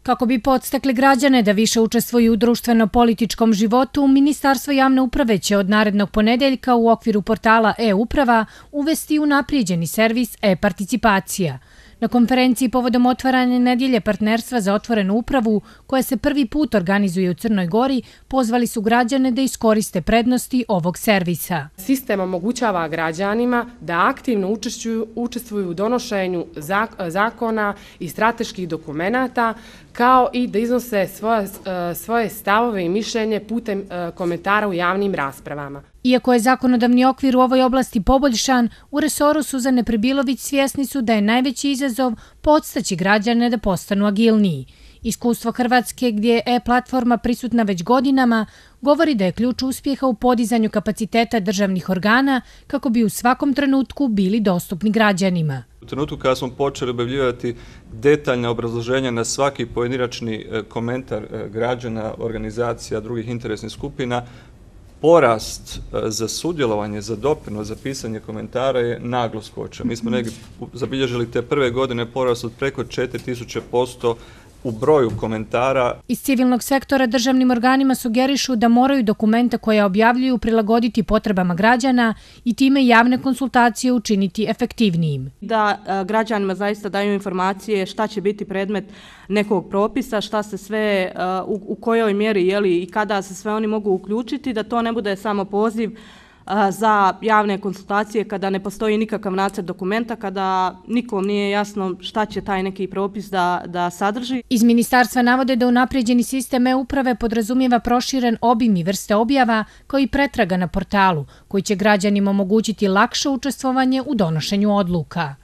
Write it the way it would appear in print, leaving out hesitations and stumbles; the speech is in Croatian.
Kako bi podstakli građane da više učestvuju u društveno-političkom životu, Ministarstvo javne uprave će od narednog ponedeljka u okviru portala e-uprava uvesti unaprijeđeni servis e-participacija. Na konferenciji povodom otvaranja nedjelje partnerstva za otvorenu upravu, koja se prvi put organizuje u Crnoj Gori, pozvali su građane da iskoriste prednosti ovog servisa. Sistem omogućava građanima da aktivno učestvuju u donošenju zakona i strateških dokumenata, kao i da iznose svoje stavove i mišljenje putem komentara u javnim raspravama. Iako je zakonodavni okvir u ovoj oblasti poboljšan, u resoru Suzane Pribilović svjesni su da je najveći izazov podstaći građane da postanu agilniji. Iskustvo Hrvatske, gdje je e-platforma prisutna već godinama, govori da je ključ uspjeha u podizanju kapaciteta državnih organa kako bi u svakom trenutku bili dostupni građanima. U trenutku kada smo počeli objavljivati detaljna obrazloženja na svaki pojedinačni komentar građana, organizacija, drugih interesnih skupina, porast za sudjelovanje, za doprinos, za pisanje komentara je naglo skočio. Mi smo negdje zabilježili te prve godine porast od preko 4000% u broju komentara. Iz civilnog sektora državnim organima sugerišu da moraju dokumenta koje objavljuju prilagoditi potrebama građana i time javne konsultacije učiniti efektivnijim. Da građanima zaista daju informacije šta će biti predmet nekog propisa, šta se sve, u kojoj mjeri i kada se sve oni mogu uključiti, da to ne bude samo poziv za javne konsultacije kada ne postoji nikakav nacrt dokumenta, kada nikom nije jasno šta će taj neki propis da sadrži. Iz ministarstva navode da unaprijeđeni sistem e-uprave podrazumijeva proširen obim i vrste objava kao i pretraga na portalu, koji će građanima omogućiti lakše učestvovanje u donošenju odluka.